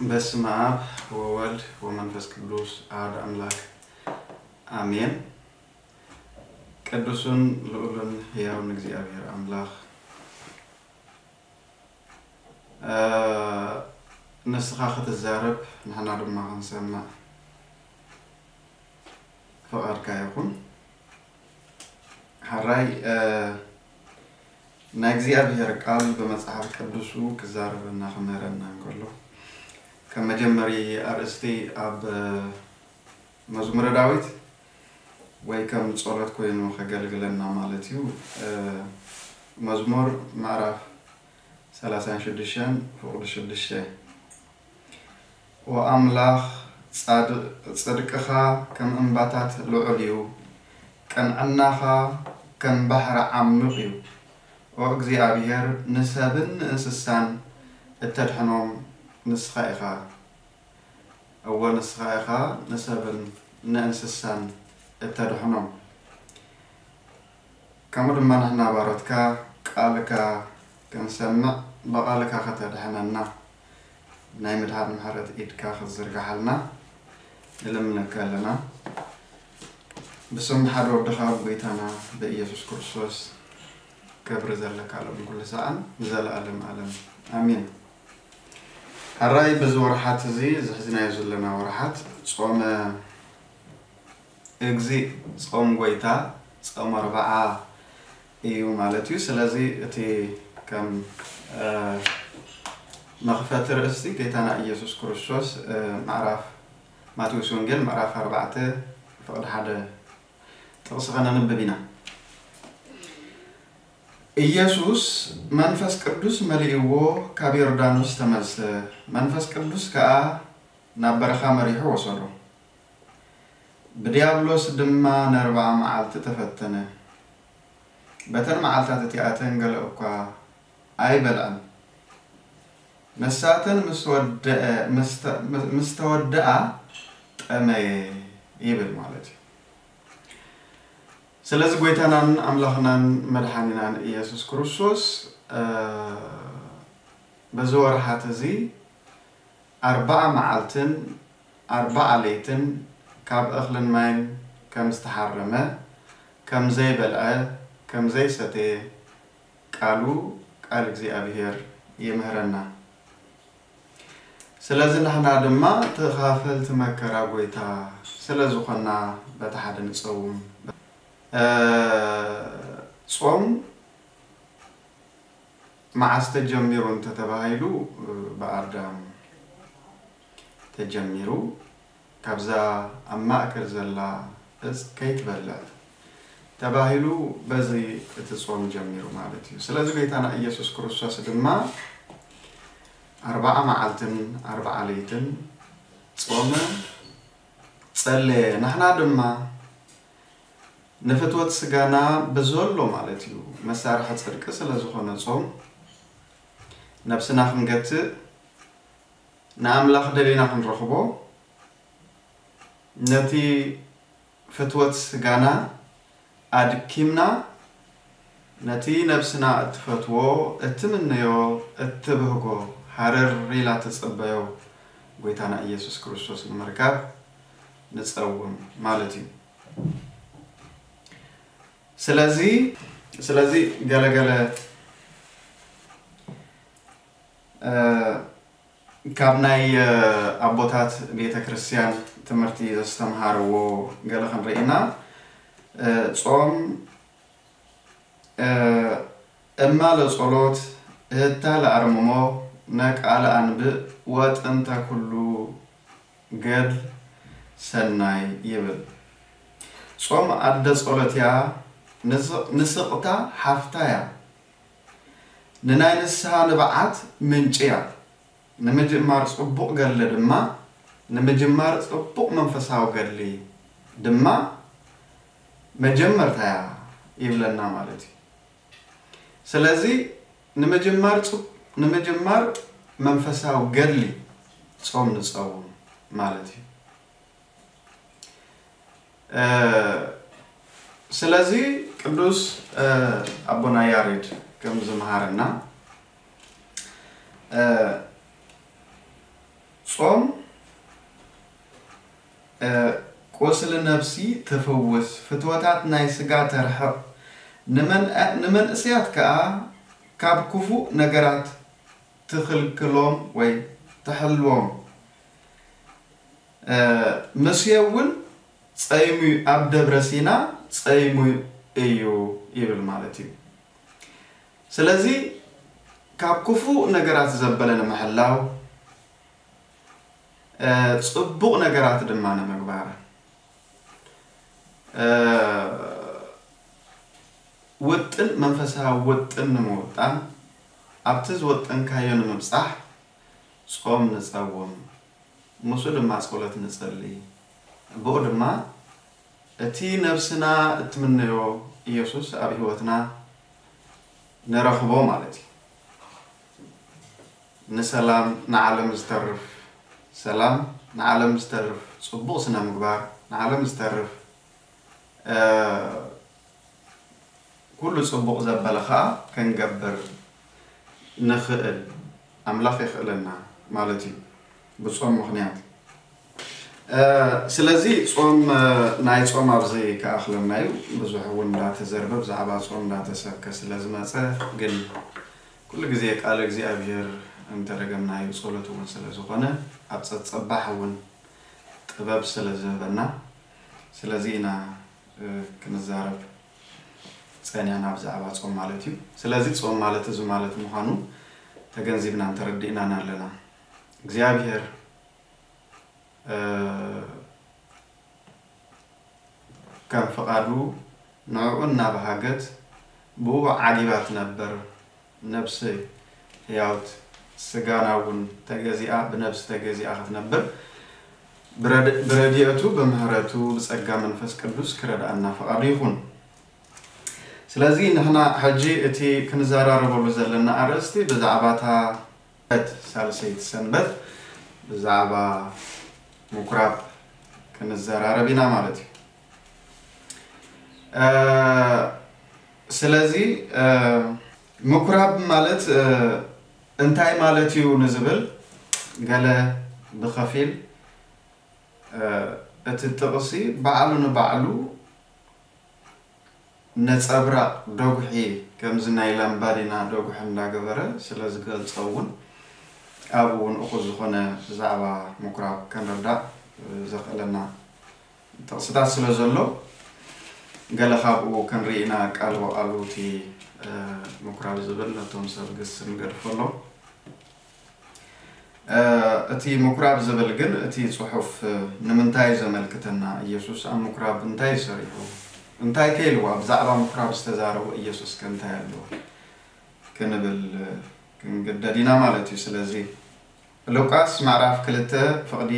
በስመ አብ ወወልድ ወመንፈስ ቅዱስ አሐዱ አምላክ አሜን። ቅዱስን ልዑልን ሕያውን እግዚኣብሔር ኣምላኽ፣ እ፣ ንስኻ ክትዛረብ ንሕና ድማ ክንሰምዕ ፍቓድካ ይኹን። ሕራይ፣ እ፣ ናይ እግዚኣብሔር ቃል ብመጽሓፍ ቅዱሱ ክዛረበና ክምህረና እንከሎ፣ ከም መጀመሪ ኣርእስቲ ኣብ መዝሙረ ዳዊት ወይ ከም ጸሎት ኮይኑ ከገልግለና ማለት እዩ። እ፣ መዝሙር ምዕራፍ ሰላሳን ሽዱሽተን ፍቕዲ ሽዱሽተ። ኦ ኣምላኽ፣ ጻድቕ-፣ ጽድቅኻ ከም እምባታት ልዑል እዩ፣ ቅንዕናኻ ከም ባሕሪ ዓሚቕ እዩ። ኦ እግዚኣብሔር፣ ንሰብን ንእንስሳን እተድሕኖም ንስኻ ኢኻ። እወ፣ ንስኻ ኢኻ ንሰብን ንእንስሳን እተድሕኖም። ከምኡ ድማ ንሕና ባሮትካ ቃልካ ክንሰምዕ፣ ብቓልካ ከተድሕነና፣ ናይ ምድሓን ምሕረት ኢድካ ክትዝርግሓልና ንልምነካ ኣለና። ብስም ሓደ ወድኻ ብጎይታና ብኢየሱስ ክርስቶስ ክብሪ ዘለካ ሎም ኩሉ ሰዓን ንዘለኣለም ኣለም ኣሜን። ሕራይ በዚ ወርሓት እዚ ዝሕዝናዮ ዘለና ወርሓት ጾመ እግዚእ፣ ጾም ጎይታ፣ ጾም ኣርብዓ እዩ ማለት እዩ። ስለዚ እቲ ከም፣ እ፣ መኽፈቲ ርእሲ ጌታና ኢየሱስ ክርስቶስ፣ እ፣ ምዕራፍ ማቴዎስ ወንጌል ምዕራፍ ኣርባዕተ ፍቕዲ ሓደ ጥቕሲ ከነንብብ ኢና። ኢየሱስ መንፈስ ቅዱስ መሊእዎ ካብ ዮርዳኖስ ተመልሰ፣ መንፈስ ቅዱስ ከኣ ናብ በረኻ መሪሑ ወሰዶ። ብድያብሎስ ድማ ነርብዓ መዓልቲ ተፈተነ። በተን መዓልታት እቲኣተን ገለ እኳ ኣይበልዐን። ንሳተን ምስ ወደአ-፣ ምስ ተ-፣ ምስ ተወደኣ ጠመየ ይብል ማለት እዩ። ስለዚ ጎይታናን ኣምላኽናን መድሓኒናን ኢየሱስ ክርስቶስ፣ እ፣ በዚ ወርሓት እዚ ኣርብዓ መዓልትን ኣርብዓ ለይትን ካብ እኽልን ማይን ከም ዝተሓረመ፣ ከም ዘይበልዐ፣ ከም ዘይሰተየ ቃሉ፣ ቃል እግዚኣብሔር ይምህረና። ስለዚ ንሕና ድማ ተኻፈልቲ መከራ ጎይታ ስለ ዝኾንና በቲ ሓደ ንጸውም። እ፣ ጾም መዓስ ተጀሚሩ እንተተባሂሉ፣ ብኣዳም ተጀሚሩ፣ ካብዛ ኣብ ማእከል ዘላ እጽ ከይትበልዕ ተባሂሉ፣ በዚ እቲ ጾም ጀሚሩ ማለት እዩ። ስለዚ ጎይታና ኢየሱስ ክርስቶስ ድማ ኣርብዓ መዓልትን ኣርብዓ ለይትን ጾመ፣ ጸለየ። ንሕና ድማ ንፍትወት ስጋና ብዘሎ ማለት እዩ፣ መሳርሒ ጽድቂ ስለ ዝኾነ ጾም፣ ነብስና ክንገትእ፣ ንኣምላኽ ደሊና ክንረኽቦ፣ ነቲ ፍትወት ስጋና ኣድኪምና፣ ነቲ ነብስና እትፈትዎ፣ እትምነዮ፣ እትብህጎ፣ ሃረር ኢላ ትጽበዮ ጎይታና ኢየሱስ ክርስቶስ ንምርካብ ንጸውም ማለት እዩ። ስለዚ፣ ስለዚ ገለገለ፣ እ፣ ካብ ናይ፣ እ፣ ኣቦታት ቤተ ክርስቲያን ትምህርቲ ዘስተምሃርዎ ገለ ክንርኢ ኢና። እ፣ ጾም፣ እ፣ እማ ለጸሎት፣ እህታ ለኣርምሞ፣ ነቃ ለኣንብእ፣ ወጥንተ ኩሉ ገድል ሰናይ ይብል። ጾም ኣደ ጸሎት እያ፣ ንስ-፣ ንስቕታ ሓፍታ እያ፣ ንናይ ንስሓ ንብዓት ምንጪ እያ። ንምጅማር ጽቡቕ ገድሊ ድማ፣ ንምጅማር ጽቡቕ መንፈሳዊ ገድሊ ድማ መጀመርታ እያ ይብለና ማለት እዩ። ስለዚ ንምጅማር ጽ-፣ ንምጅማር መንፈሳዊ ገድሊ ጾም ንጸውም ማለት እዩ። እ፣ ስለዚ ቅዱስ፣ እ፣ ኣቦና ያሬድ ከም ዝመሃረና፣ እ፣ ጾም ቁስሊ ነፍሲ ትፍውስ፣ ፍትወታት ናይ ስጋ ተርሕቕ፣ ንመንእሰያት ከኣ ካብ ክፉእ ነገራት ትኽልክሎም ወይ ትሕልዎም። ሙሴ እውን ጸይሙ ኣብ ደብረ ሲና ጸይሙ እዩ ይብል ማለት እዩ። ስለዚ ካብ ክፉእ ነገራት ዘበለ ንምሕላው ጽቡቕ ነገራት ድማ ንምግባር ውጥን መንፈሳዊ ውጥን ንምውጣን ኣብቲ ዝወጠንካዮ ንምብጻሕ ጾም ንጸውም፣ ምስኡ ድማ ጸሎት ንጸሊ። ብኡ ድማ እቲ ነብስና እትምነዮ ኢየሱስ ኣብ ህይወትና ንረኽቦ ማለት እዩ። ንሰላም ንዓለም ዝተርፍ ሰላም ንዓለም ዝተርፍ ጽቡቕ ስነ ምግባር ንዓለም ዝተርፍ ኩሉ ጽቡቕ ዘበለ ኸኣ ክንገብር ንኽእል ኣምላኽ የኽእለና ማለት እዩ ብጾም ምኽንያት። ስለዚ ጾም ናይ ጾም ኣብዚ ክኣኽለና እዩ። ብዙሕ እውን እንዳተዘርበ ብዛዕባ ጾም እንዳተሰብከ ስለ ዝመጸ ግን ኩሉ ግዜ ቃለ እግዚኣብሔር እንተደገምናዮ ጸሎት እውን ስለ ዝኾነ ኣብ ጸጸባሕ እውን ጥበብ ስለ ዝህበና ስለዚ ኢና ክንዛረብ ጸኒሕና ብዛዕባ ጾም ማለት እዩ። ስለዚ ጾም ማለት እዚ ማለት ምዃኑ ተገንዚብናን ተረዲእናን ኣለና። እግዚኣብሔር ከም ፍቓዱ ንዕኡ እናበሃገት ብኡ ዓጊባ ትነብር ነብሲ ህያውት ስጋና እውን ተገዚኣ ብነብሲ ተገዚኣ ክትነብር ብረድኤቱ ብምህረቱ ብጸጋ መንፈስ ቅዱስ ክረድኣና ፍቓዱ ይኹን። ስለዚ ንሕና ሕጂ እቲ ክንዘራረበሉ ዘለና ኣርእስቲ ብዛዕባ እታ ሳልሰይቲ ሰንበት ብዛዕባ ምኩራብ ክንዘራረብ ኢና ማለት እዩ። ስለዚ ምኩራብ ማለት እንታይ ማለት እዩ ንዝብል ገለ ብኸፊል እቲ ጥቕሲ ባዕሉ ንባዕሉ ነጸብራቕ ደጉሒ ከምዚ ናይ ላምባዲና ደጉሒ እንዳገበረ ስለ ዝገልጾ እውን ኣብኡ እውን እኹል ዝኾነ ብዛዕባ ምኩራብ ክንርዳእ ዘኽእለና ጥቕስታት ስለ ዘሎ ገለ ካብኡ ክንርኢ ኢና። ቃል ብቓሉ እቲ ምኩራብ ዝብል ነቶም ሰብ ግስ ንገድፈሎም። እቲ ምኩራብ ዝብል ግን እቲ ጽሑፍ ንምንታይ እዩ ዘመልክተና? ኢየሱስ ኣብ ምኩራብ እንታይ እዩ ሰሪሑ? እንታይ ከ ኢልዋ? ብዛዕባ ምኩራብ ዝተዛረቦ ኢየሱስ ከ እንታይ ኣለዎ? ክንብል ክንግደድ ኢና ማለት እዩ። ስለዚ ሉቃስ ምዕራፍ ክልተ ፍቕዲ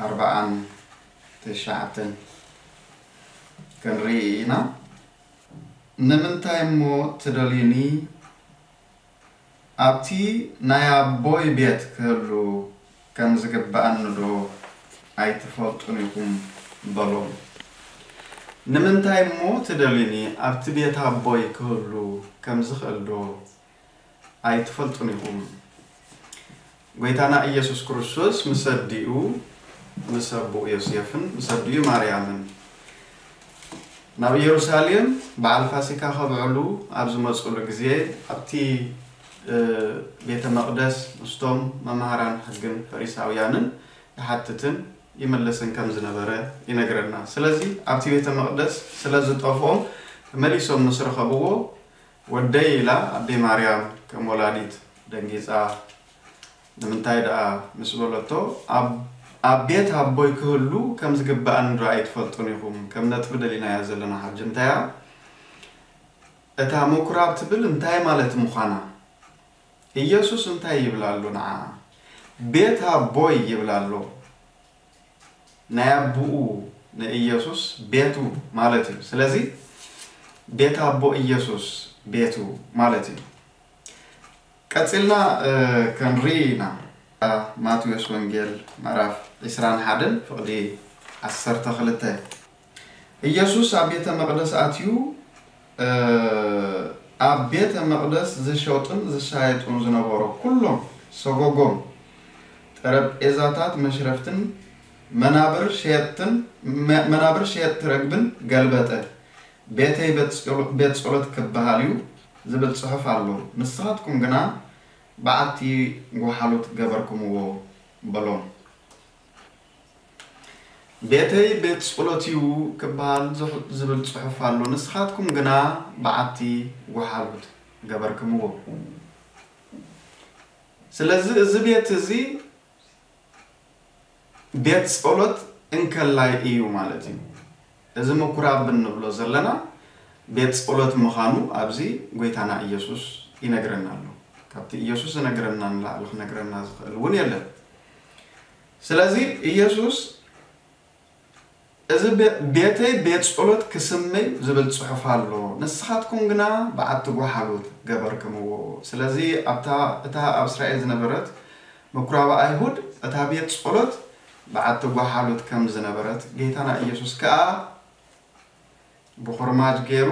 ኣርባዓን ትሽዓተን ክንርኢ ኢና። ንምንታይ እሞ ትደልዩኒ ኣብቲ ናይ ኣቦይ ቤት ክህሉ ከም ዝግብኣኒ ዶ ኣይትፈልጡን ኢኹም? በሎም። ንምንታይ እሞ ትደልዩኒ ኣብቲ ቤት ኣቦይ ክህሉ ከም ዝኽእል ዶ ኣይትፈልጡን ኢኹም? ጎይታና ኢየሱስ ክርስቶስ ምስ ኣዲኡ ምስ ኣቦኡ ዮሴፍን ምስ ኣዲኡ ማርያምን ናብ ኢየሩሳሌም በዓል ፋሲካ ከብዕሉ ኣብ ዝመጽሉ ግዜ ኣብቲ ቤተ መቕደስ ምስቶም መማህራን ሕግን ፈሪሳውያንን ይሓትትን ይምልስን ከም ዝነበረ ይነግረና። ስለዚ ኣብቲ ቤተ መቕደስ ስለ ዝጠፍኦም ተመሊሶም ምስ ረኸብዎ ወደይ ኢላ ኣደይ ማርያም ከም ወላዲት ደንጊጻ ንምንታይ ደኣ ምስ በለቶ ኣብ ቤት ኣቦይ ክህሉ ከም ዝግብኣኒ ዶ ኣይትፈልጡን ኢኹም? ከም ነጥቢ ደሊናያ ዘለና ሕጂ እንታያ እታ ምኩራብ ትብል እንታይ ማለት ምዃና ኢየሱስ እንታይ ይብል ኣሎ ንዓ ቤት ኣቦይ ይብል ኣሎ ናይ ኣቦኡ ንኢየሱስ ቤቱ ማለት እዩ። ስለዚ ቤት ኣቦ ኢየሱስ ቤቱ ማለት እዩ። ቀጺልና ክንርኢ ኢና። ማቴዎስ ወንጌል ምዕራፍ ዕስራን ሓደን ፍቕዲ ዓሰርተ ክልተ ኢየሱስ ኣብ ቤተ መቕደስ ኣትዩ ኣብ ቤተ መቕደስ ዝሸጡን ዝሻየጡን ዝነበሩ ኩሎም ሰጎጎም ጠረጴዛታት መሽረፍትን መናብር ሸየጥትን መ- መናብር ሸየጥቲ ረግብን ገልበጠ። ቤተይ ቤት ጸሎ- ቤት ጸሎት ክበሃል እዩ ዝብል ጽሑፍ ኣሎ፣ ንስኻትኩም ግና በዓቲ ጓሓሉት ገበርኩምዎ በሎም። ቤተይ ቤት ጸሎት እዩ ክበሃል ዝሕ- ዝብል ጽሑፍ ኣሎ፣ ንስኻትኩም ግና በዓቲ ጓሓሉት ገበርክምዎ። ስለዚ እዚ ቤት እዚ ቤት ጸሎት እንከላይ እዩ ማለት እዩ። እዚ ምኩራብ እንብሎ ዘለና ቤት ጸሎት ምዃኑ ኣብዚ ጎይታና ኢየሱስ ይነግረና ኣሎ። ካብቲ ኢየሱስ ዝነግረና ንላዕሊ ክነግረና ዝኽእል እውን የለን። ስለዚ ኢየሱስ እዚ ቤ- ቤተይ ቤት ጸሎት ክስመይ ዝብል ጽሑፍ ኣሎ፣ ንስኻትኩም ግና በዓቲ ጓሓሉት ገበርክምዎ። ስለዚ ኣብታ እታ ኣብ እስራኤል ዝነበረት ምኩራብ ኣይሁድ እታ ቤት ጸሎት በዓቲ ጓሓሉት ከም ዝነበረት፣ ጌታና ኢየሱስ ከኣ ብኹርማጅ ገይሩ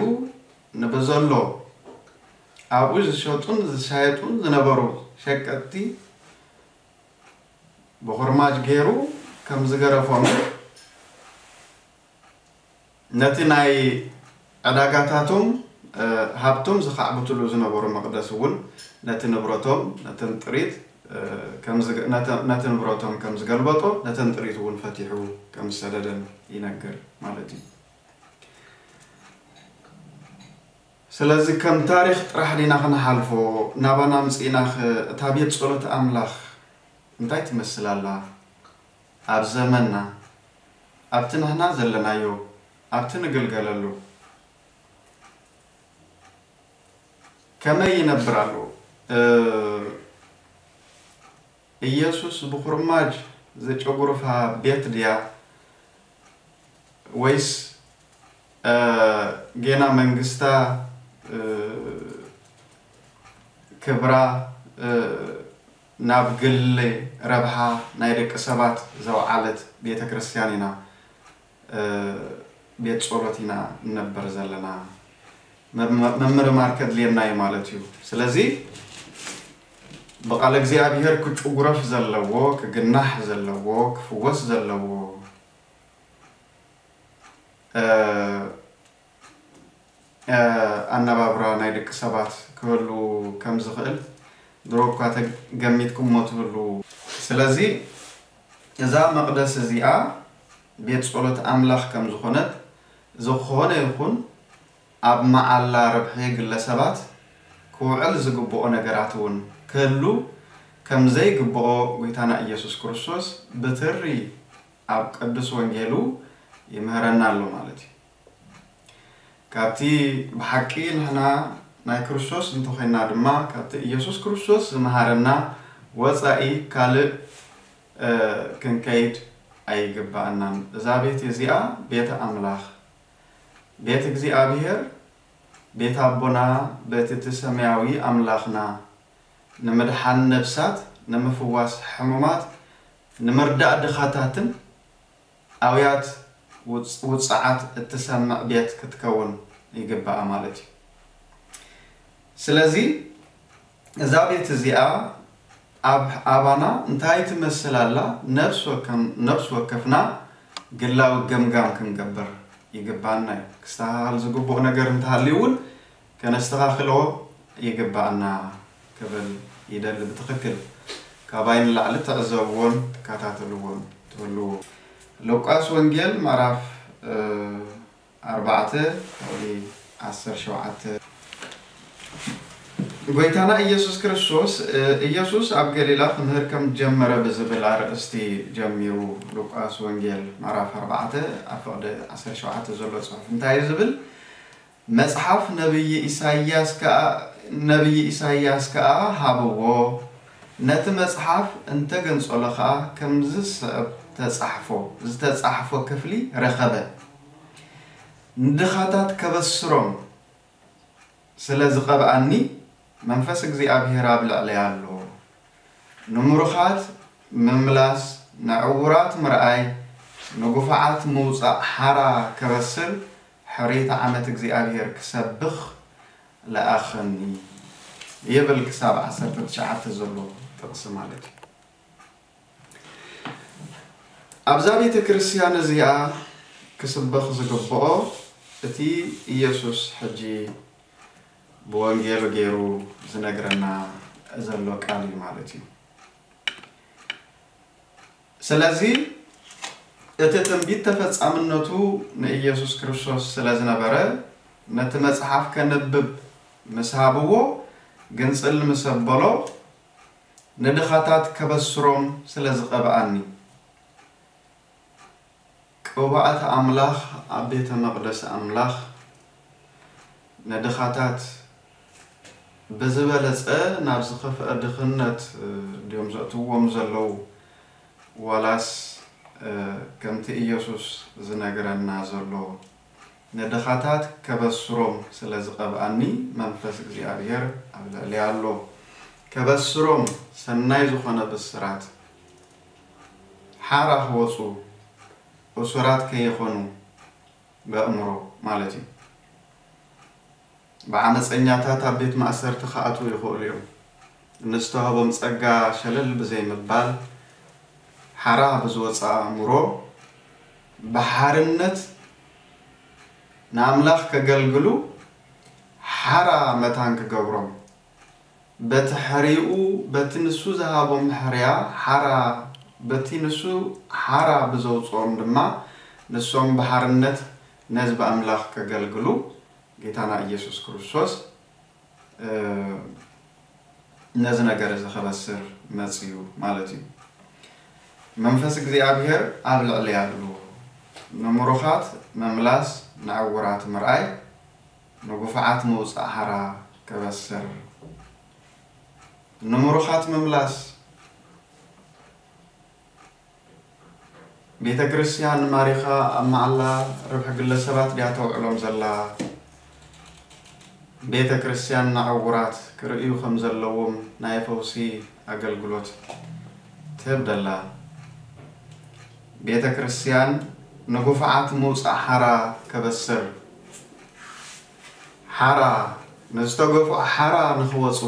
ንብዘሎ ኣብኡ ዝሸጡን ዝሻየጡን ዝነበሩ ሸቀጥቲ ብኹርማጅ ገይሩ ከም ዝገረፎም፣ ነቲ ናይ ዕዳጋታቶም ሃብቶም ዝኻዕብትሉ ዝነበሩ መቕደስ እውን ነቲ ንብረቶም ነተን ጥሪት ከም ዝገ- ነተ- ነቲ ንብረቶም ከም ዝገልበጦ፣ ነተን ጥሪት እውን ፈቲሑ ከም ዝሰደደን ይነግር ማለት እዩ። ስለዚ ከም ታሪኽ ጥራሕ ዲና ክንሓልፎ? ናባና ኣምጺእና ኸ እታ ቤት ጸሎት ኣምላኽ እንታይ ትመስል ኣላ? ኣብ ዘመንና፣ ኣብቲ ንሕና ዘለናዮ፣ ኣብቲ ንግልገለሉ ከመይ ይነብር ኣሎ? እ፣ ኢየሱስ ብኹርማጅ ዘጨጉርፋ ቤት ድያ? ወይስ፣ እ፣ ጌና መንግስታ፣ እ፣ ክብራ፣ እ፣ ናብ ግል ረብሓ ናይ ደቂ ሰባት ዘውዓለት ቤተ ክርስቲያን ኢና፣ እ፣ ቤት ጸሎት ኢና ንነብር ዘለና? መ- መ- ምምርማር ከድልየና እዩ ማለት እዩ። ስለዚ ብቃል እግዚኣብሔር ክጭጉረፍ ዘለዎ፣ ክግናሕ ዘለዎ፣ ክፍወስ ዘለዎ፣ እ፣ እ፣ ኣነባብራ ናይ ደቂ ሰባት ክህሉ ከም ዝኽእል ድሮ እኳ ተገሚትኩሞ ትህሉ። ስለዚ እዛ መቕደስ እዚኣ ቤት ጸሎት ኣምላኽ ከም ዝኾነት፣ ዝኾነ ይኹን ኣብ መዓላ ረብሒ ግለሰባት ክውዕል ዝግብኦ ነገራት እውን ክህሉ ከም ዘይግብኦ ጎይታና ኢየሱስ ክርስቶስ ብትሪ ኣብ ቅዱስ ወንጌሉ ይምህረና ኣሎ ማለት እዩ። ካብቲ ብሓቂ ንሕና ናይ ክርስቶስ እንተኾይና ድማ፣ ካብቲ ኢየሱስ ክርስቶስ ዝመሃረና ወጻኢ ካልእ፣ እ፣ ክንከይድ ኣይግባኣናን። እዛ ቤት እዚኣ ቤተ ኣምላኽ፣ ቤት እግዚኣብሔር፣ ቤት ኣቦና፣ ቤት እቲ ሰማያዊ ኣምላኽና፣ ንምድሓን ነፍሳት፣ ንምፍዋስ ሕሙማት፣ ንምርዳእ ድኻታትን ኣውያት ውጽ- ውጽዓት እትሰምዕ ቤት ክትከውን ይግባኣ ማለት እዩ። ስለዚ እዛ ቤት እዚኣ ኣብ ኣባና እንታይ ትመስል ኣላ? ነፍስ ወከም- ነፍስ ወከፍና ግላዊ ገምጋም ክንገብር ይግባና እዩ። ክስተኻኸል ዝግብኦ ነገር እንተሃልዩ እውን ከነስተኻኽሎ ይግባኣና ክብል ይደሊ። ብትኽክል ካባይ ንላዕሊ ትዕዘብዎን ትከታተልዎን ትህልዉ። ሉቃስ ወንጌል ምዕራፍ፣ እ፣ ኣርባዕተ ካብቲ ዓሰርተ ሸውዓተ። ጎይታና ኢየሱስ ክርስቶስ፣ እ፣ ኢየሱስ ኣብ ገሊላ ክምህር ከም ጀመረ ብዝብል ኣርእስቲ ጀሚሩ። ሉቃስ ወንጌል ምዕራፍ ኣርባዕተ ኣብ ፍቕዲ ዓሰርተ ሸውዓተ ዘሎ ጽሑፍ እንታይ እዩ ዝብል? መጽሓፍ ነብዪ ኢሳይያስ ከኣ፣ ነብዪ ኢሳይያስ ከኣ ሃብዎ። ነቲ መጽሓፍ እንተገንጸሎ ከኣ ከምዚ ዝስዕብ ተጻሕፎ፣ ዝተጻሕፎ ክፍሊ ረኸበ። ንድኻታት ከበስሮም ስለ ዝቐብኣኒ መንፈስ እግዚኣብሔር ኣብ ልዕለይ ኣሎ። ንምሩኻት ምምላስ፣ ንዕዉራት ምርኣይ፣ ንጉፋዓት ምውጻእ ሓራ ከበስር ሕርይቲ ዓመት እግዚኣብሔር ክሰብኽ ለኣኸኒ ይብል ክሳብ ዓሰርተ ትሽዓተ ዘሎ ጥቕሲ ማለት እዩ። ኣብዛ ቤተ ክርስቲያን እዚኣ ክስበኽ ዝግብኦ እቲ ኢየሱስ ሕጂ ብወንጌሉ ገይሩ ዝነግረና ዘሎ ቃል እዩ ማለት እዩ። ስለዚ እቲ ትንቢት ተፈጻምነቱ ንኢየሱስ ክርስቶስ ስለ ዝነበረ፣ ነቲ መጽሓፍ ከንብብ ምስ ሃብዎ፣ ግንጽል ምስ ኣበሎ፣ ንድኻታት ከበስሮም ስለ ዝቐብኣኒ፣ ቅቡኣት ኣምላኽ ኣብ ቤተ መቕደስ ኣምላኽ ንድኻታት ብዝበለጸ ናብ ዝኸፍአ ድኽነት ድዮም ዘእትዎም ዘለዉ? ዋላስ ከምቲ ኢየሱስ ዝነግረና ዘሎ ንድኻታት ከበስሮም ስለ ዝቐብኣኒ መንፈስ እግዚኣብሔር ኣብ ልዕለይ ኣሎ። ከበስሮም ሰናይ ዝኾነ ብስራት ሓራ ክወፁ እሱራት ከይኾኑ በእምሮ ማለት እዩ። ብዓመፀኛታት ኣብ ቤት ማእሰርቲ ክኣትዉ ይኽእሉ እዮም። ንዝተዋህቦም ጸጋ ሸለል ብዘይ ምባል ሓራ ብዝወጽእ ኣእምሮ ብሓርነት ንኣምላኽ ከገልግሉ ሓራ መታን ክገብሮም በቲ ሕርይኡ በቲ ንሱ ዝሃቦም ሕርያ ሓራ በቲ ንሱ ሓራ ብዘውጽኦም ድማ ንሶም ብሓርነት ንህዝቢ ኣምላኽ ከገልግሉ ጌታና ኢየሱስ ክርስቶስ ነዚ ነገር እዚ ከበስር መጽዩ ማለት እዩ። መንፈስ እግዚኣብሔር ኣብ ልዕለይ ኣሎ። ንምሩኻት ምምላስ፣ ንዕውራት ምርኣይ፣ ንጉፉዓት ምውጻእ ሓራ ከበስር። ንምሩኻት ምምላስ ቤተ ክርስቲያን ማሪኻ ኣብ መዓላ ርብሒ ግለሰባት ድያ ተውዕሎም ዘላ? ቤተ ክርስቲያን ንዕውራት ክርእዩ ከም ዘለዎም ናይ ፈውሲ ኣገልግሎት ትህብ ደላ? ቤተ ክርስቲያን ንጉፉዓት ምውጻእ ሓራ ከበስር ሓራ ንዝተገፍዑ ሓራ ንኽወጹ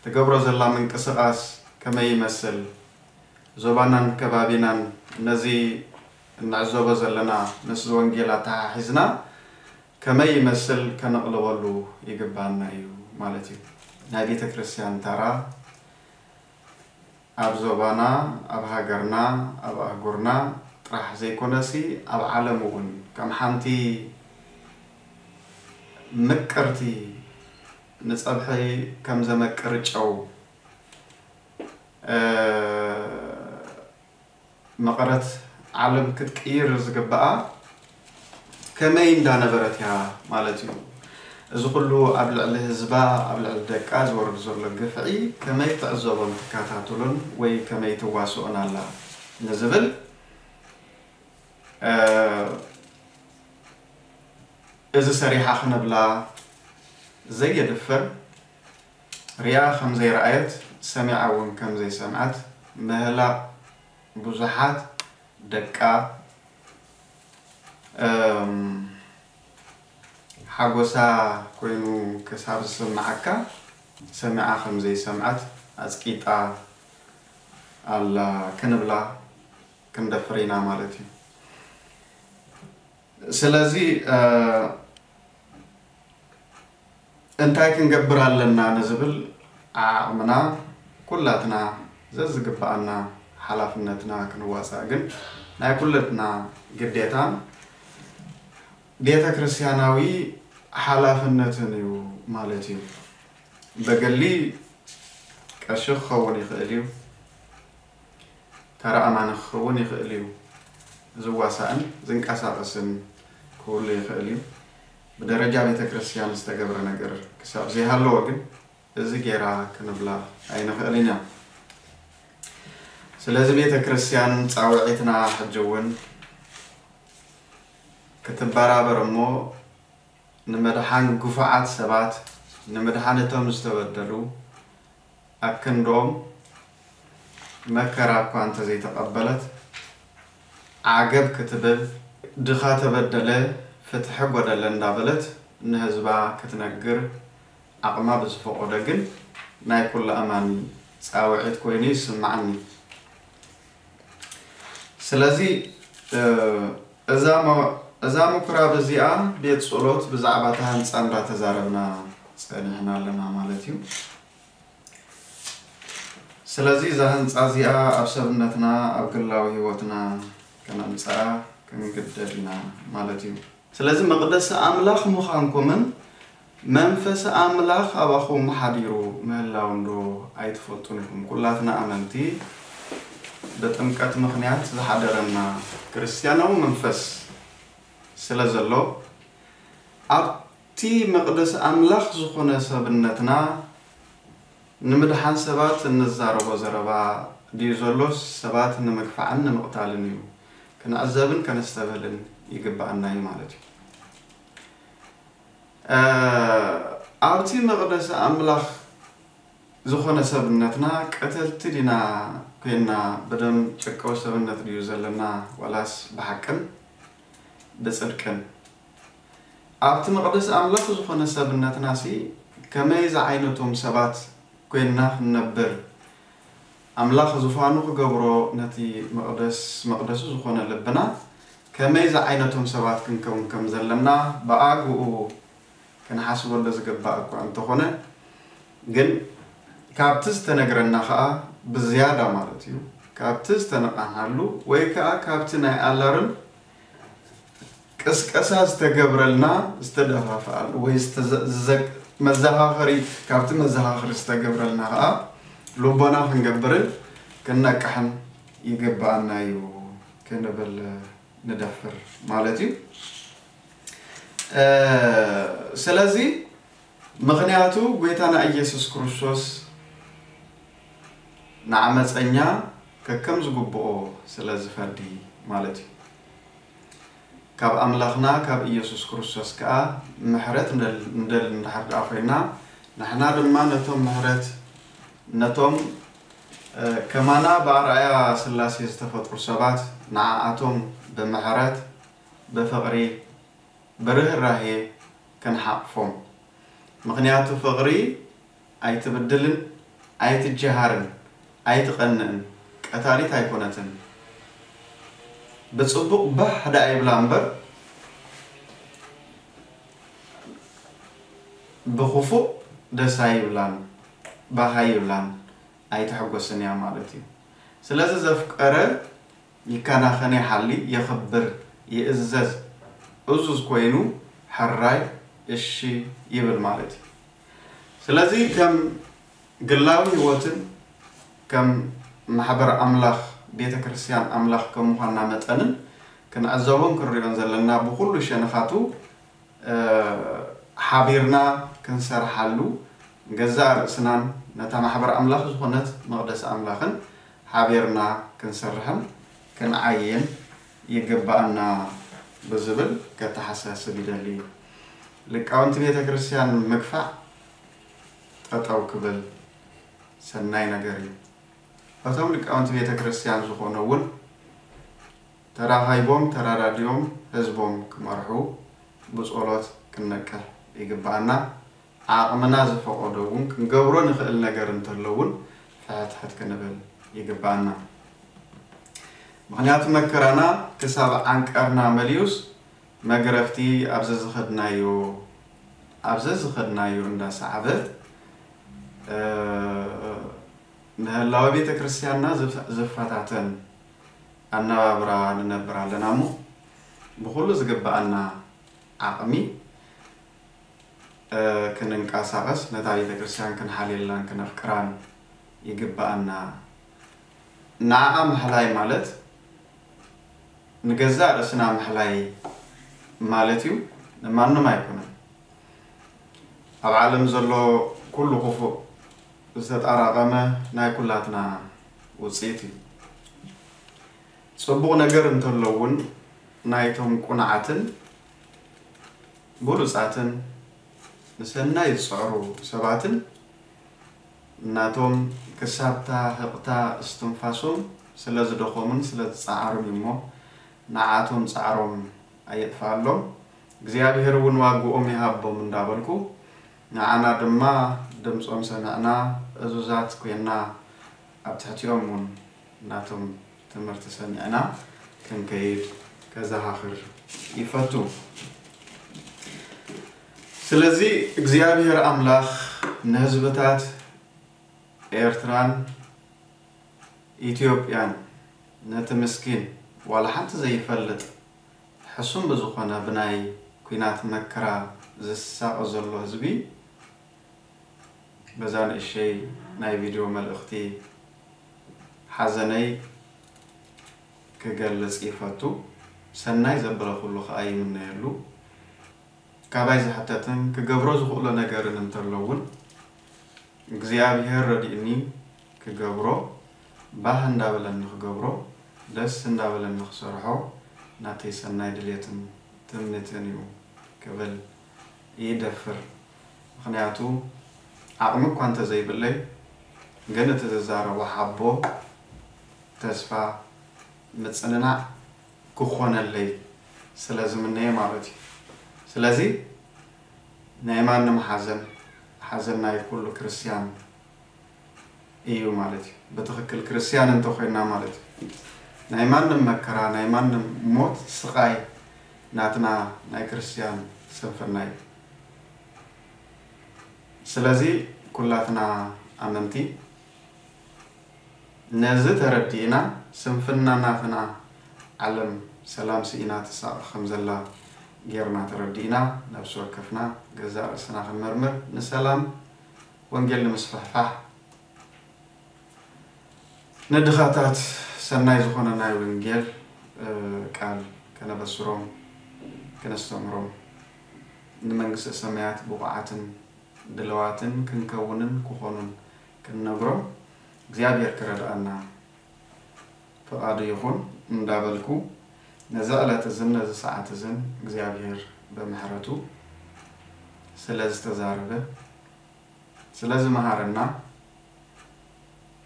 ትገብሮ ዘላ ምንቅስቓስ ከመይ ይመስል? ዞባናን ከባቢናን ነዚ እንዕዘቦ ዘለና ምስ ወንጌል ኣተሓሒዝና ከመይ ይመስል ከነቕልበሉ ይግባና እዩ ማለት እዩ። ናይ ቤተ ክርስቲያን ተራ ኣብ ዞባና፣ ኣብ ሃገርና፣ ኣብ ኣህጉርና ጥራሕ ዘይኮነሲ ኣብ ዓለም እውን ከም ሓንቲ ምቅርቲ ንጸብሒ ከም ዘመቅር ጨው መቐረት ዓለም ክትቅይር ዝግብኣ ከመይ እንዳነበረት እያ ማለት እዩ። እዚ ኩሉ ኣብ ልዕሊ ህዝባ ኣብ ልዕሊ ደቃ ዝወርድ ዘሎ ግፍዒ ከመይ ትዕዘቦን ትከታተሎን ወይ ከመይ ትዋስኦን ኣላ ንዝብል እዚ ሰሪሓ ክነብላ ዘየድፍር ሪኣ ከም ዘይረኣየት ሰሚዓ እውን ከም ዘይሰምዐት ምህላቕ ብዙሓት ደቃ ሓጎሳ ኮይኑ ክሳብ ዝስምዓካ ሰሚዓ ከም ዘይሰምዐት ኣፅቂጣ ኣላ ክንብላ ክንደፍር ኢና ማለት እዩ። ስለዚ እንታይ ክንገብር ኣለና ንዝብል ዓቕምና ኩላትና ዘዝግብኣና ሓላፍነትና ክንዋፃእ ግን ናይ ኩለትና ግዴታን ቤተ ክርስቲያናዊ ሓላፍነትን እዩ ማለት እዩ። በገሊ ቀሺ ክኸውን ይኽእል እዩ፣ ተራ ኣማኒ ክኸውን ይኽእል እዩ፣ ዝዋሳእን ዝንቀሳቐስን ክህሉ ይኽእል እዩ። ብደረጃ ቤተ ክርስቲያን ዝተገብረ ነገር ክሳብ ዘይሃለወ ግን እዚ ጌራ ክንብላ ኣይንኽእልን ኢና። ስለዚ ቤተ ክርስቲያን ፃውዒትና ሕጂ እውን ክትበራበር እሞ ንምድሓን ግፉዓት ሰባት ንምድሓን እቶም ዝተበደሉ ኣክንዶም መከራ እኳ እንተዘይተቐበለት ዓገብ ክትብል ድኻ ተበደለ ፍትሒ ጎደለ እንዳበለት ንህዝባ ክትነግር ዓቕማ ብዝፈቐዶ ግን ናይ ኩሉ ኣማኒ ፃውዒት ኮይኑ ይስምዓኒ። ስለዚ እዛ ምኩራብ እዚኣ ቤት ጸሎት ብዛዕባ እታ ህንጻ እንዳተዛረብና ጸኒሕና ኣለና ማለት እዩ። ስለዚ እዛ ህንጻ እዚኣ ኣብ ሰብነትና ኣብ ግላዊ ህይወትና ከነምጽኣ ክንግደድ ኢና ማለት እዩ። ስለዚ መቕደስ ኣምላኽ ምዃንኩምን መንፈስ ኣምላኽ ኣባኹም ሓዲሩ ምህላው እንዶ ኣይትፈልጡን ኢኹም። ኩላትና ኣመንቲ ብጥምቀት ምኽንያት ዝሓደረና ክርስትያናዊ መንፈስ ስለ ዘሎ ኣብቲ መቕደስ ኣምላኽ ዝኾነ ሰብነትና ንምድሓን ሰባት እንዛረቦ ዘረባ ድዩ ዘሎስ ሰባት ንምግፋዕን ንምቕታልን እዩ ክንዕዘብን ከነስተብህልን ይግብኣና እዩ ማለት እዩ። ኣብቲ መቕደስ ኣምላኽ ዝኾነ ሰብነትና ቀተልቲ ዲና ኮይና ብደም ጨቀው ሰብነት ድዩ ዘለና ዋላስ ብሓቅን ብጽድቅን ኣብቲ መቕደስ ኣምላኽ ዝኾነ ሰብነትና ሲ ከመይ ዝዓይነቶም ሰባት ኮይንና ክንነብር ኣምላኽ ዝፋኑ ክገብሮ ነቲ መቕደስ መቕደሱ ዝኾነ ልብና ከመይ ዝዓይነቶም ሰባት ክንከውን ከም ዘለና ብኣግኡ ክንሓስበሉ ዝግባእ እኳ እንተኾነ ግን ካብቲ ዝተነግረና ከዓ ብዝያዳ ማለት እዩ ካብቲ ዝተነቃናሉ ወይ ከዓ ካብቲ ናይ ኣላርም ቅስቀሳ ዝተገብረልና ዝተደፋፍኣሉ ወይ መዘኻኸሪ ካብቲ መዘኻኸሪ ዝተገብረልና ከዓ ልቦና ክንገብርን ክንነቅሕን ይግብኣና እዩ ክንብል ንደፍር ማለት እዩ። ስለዚ ምኽንያቱ ጎይታና ኢየሱስ ክርስቶስ ንዓመፀኛ ከከም ዝግብኦ ስለ ዝፈርዲ ማለት እዩ። ካብ ኣምላኽና ካብ ኢየሱስ ክርስቶስ ከኣ ምሕረት ንደሊ እንድሕር ደኣ ኮይና ንሕና ድማ ነቶም ምሕረት ነቶም ከማና ብኣርኣያ ስላሴ ዝተፈጥሩ ሰባት ንዓኣቶም ብምሕረት ብፍቕሪ ብርህራሄ ክንሓቕፎም። ምኽንያቱ ፍቕሪ ኣይትብድልን ኣይትጀሃርን ኣይትቐንእን ቀታሊት ኣይኮነትን። ብጽቡቕ ባህ ደኣ ይብላ እምበር ብኽፉእ ደስ ኣይብላን ባህ ኣይብላን ኣይትሕጎስን እያ ማለት እዩ። ስለዚ ዘፍቀረ ይከናኸን ይሓሊ የኽብር ይእዘዝ እዙዝ ኮይኑ ሕራይ እሺ ይብል ማለት እዩ። ስለዚ ከም ግላዊ ህይወትን ከም ማሕበር ኣምላኽ ቤተ ክርስቲያን ኣምላኽ ከም ምዃንና መጠንን ክንዕዘቦን ክንሪኦን ዘለና ብኹሉ ሸነኻቱ ሓቢርና ክንሰርሓሉ ንገዛእ ርእስናን ነታ ማሕበር ኣምላኽ ዝኾነት መቕደስ ኣምላኽን ሓቢርና ክንሰርሕን ክንዓይን ይግብኣና ብዝብል ከተሓሳስብ ይደሊ። ሊቃውንቲ ቤተ ክርስቲያን ምግፋዕ ጠጠው ክብል ሰናይ ነገር እዩ። እቶም ሊቃውንቲ ቤተ ክርስቲያን ዝኾኑ እውን ተራኻይቦም ተራዳዲኦም ህዝቦም ክመርሑ ብጸሎት ክንነቅሕ ይግብኣና። ዓቕምና ዝፈቐዶ እውን ክንገብሮ ንኽእል ነገር እንተሎ እውን ፍሕትሕት ክንብል ይግብኣና። ምኽንያቱ መከራና ክሳብ ዓንቀርና መሊኡስ መግረፍቲ ኣብዚ ዝኸድናዮ ኣብዚ ዝኸድናዮ እንዳሰዓበ ምህላወ ቤተ ክርስቲያንና ዝፈታተን ኣነባብራ ንነብር ኣለና እሞ ብኹሉ ዝግብኣና ዓቕሚ ክንንቀሳቐስ ነታ ቤተ ክርስቲያን ክንሓልየላን ክነፍቅራን ይግብኣና። ንዓኣ ምሕላይ ማለት ንገዛእ ርእስና ምሕላይ ማለት እዩ፣ ንማንም ኣይኮነን። ኣብ ዓለም ዘሎ ኩሉ ክፉእ ዝተጣራቐመ ናይ ኩላትና ውፅኢት እዩ። ፅቡቕ ነገር እንተሎ እውን ናይቶም ቁኑዓትን ብሉፃትን ንሰናይ ዝፅዕሩ ሰባትን ናቶም ክሳብታ ህቕታ እስትንፋሶም ስለ ዝደኸሙን ስለ ዝፀዓሩን እዩ እሞ ንዓቶም ፃዕሮም ኣየጥፍኣሎም እግዚኣብሔር እውን ዋግኦም ይሃቦም እንዳበልኩ ንዓና ድማ ድምፆም ሰሚዕና እዙዛት ኮይና ኣብ ትሕቲኦም እውን ናቶም ትምህርቲ ሰሚዕና ክንከይድ ከዘኻኽር ይፈቱ። ስለዚ እግዚኣብሔር ኣምላኽ ንህዝብታት ኤርትራን ኢትዮጵያን፣ ነቲ ምስኪን ዋላ ሓንቲ ዘይፈልጥ ሕሱም ብዝኾነ ብናይ ኲናት መከራ ዝሳቐ ዘሎ ህዝቢ፣ በዛ ንእሸይ ናይ ቪድዮ መልእኽቲ ሓዘነይ ክገልጽ ይፈቱ። ሰናይ ዘበለ ኩሉ ከኣ ይምነየሉ። ካባይ ዝሕተትን ክገብሮ ዝኽእሎ ነገርን እንተሎ እውን እግዚኣብሔር ረዲእኒ ክገብሮ፣ ባህ እንዳበለኒ ክገብሮ፣ ደስ እንዳበለኒ ክሰርሖ ናተይ ሰናይ ድሌትን ትምኒትን እዩ ክብል ይደፍር። ምኽንያቱ ዓቕሚ እኳ እንተዘይብለይ ግን እቲ ዝዛረቦ ሓቦ፣ ተስፋ፣ ምጽንናዕ ክኾነለይ ስለ ዝምነየ ማለት እዩ። ስለዚ ናይ ማንም ሓዘን፣ ሓዘን ናይ ኩሉ ክርስትያን እዩ ማለት እዩ። ብትኽክል ክርስትያን እንተኾይንና ማለት እዩ። ናይ ማንም መከራ፣ ናይ ማንም ሞት፣ ስቓይ ናትና ናይ ክርስትያን ስንፍና እዩ። ስለዚ ኩላትና ኣመንቲ ነዚ ተረዲእና፣ ስንፍና ናትና፣ ዓለም ሰላም ስኢና ትሳቐ ከም ዘላ ጌርና ተረዲእና፣ ነብሲ ወከፍና ገዛእ ርእስና ክንመርምር፣ ንሰላም ወንጌል ንምስፍሕፋሕ፣ ንድኻታት ሰናይ ዝኾነ ናይ ወንጌል እ፣ ቃል ከነበስሮም፣ ከነስተምህሮም፣ ንመንግስተ ሰማያት ብቑዓትን ድለዋትን ክንከውንን ክኾኑን ክንነግሮም እግዚኣብሔር ክረድኣና ፍቓዱ ይኹን እንዳበልኩ፣ ነዚ ዕለት እዝን ነዚ ሰዓት እዝን እግዚኣብሔር ብምሕረቱ ስለ ዝተዛረበ፣ ስለ ዝመሃረና፣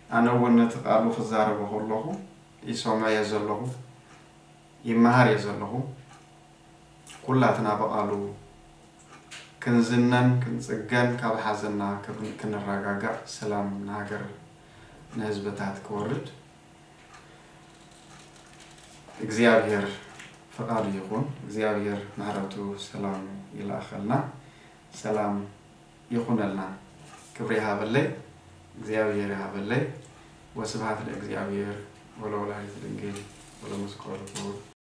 ኣነ እውን ነቲ ቃሉ ክዛረቦ ከለኹ ይሰምዖ እየ ዘለኹ፣ ይመሃር እየ ዘለኹ። ኩላትና ብቃሉ ክንዝነን ክንጽገን፣ ካብ ሓዘንና ክን-፣ ክንረጋጋእ፣ ሰላም ንሃገር ንህዝብታት ክወርድ እግዚኣብሔር ፍቃዱ ይኹን። እግዚኣብሔር ምሕረቱ ሰላሙ ይልኣኸልና። ሰላም ይኹነልና። ክብሪ ይሃበለይ፣ እግዚኣብሔር ይሃበለይ። ወስብሐት ለእግዚኣብሔር ወለወላዲቱ ድንግል ወለመስቀሉ ክቡር።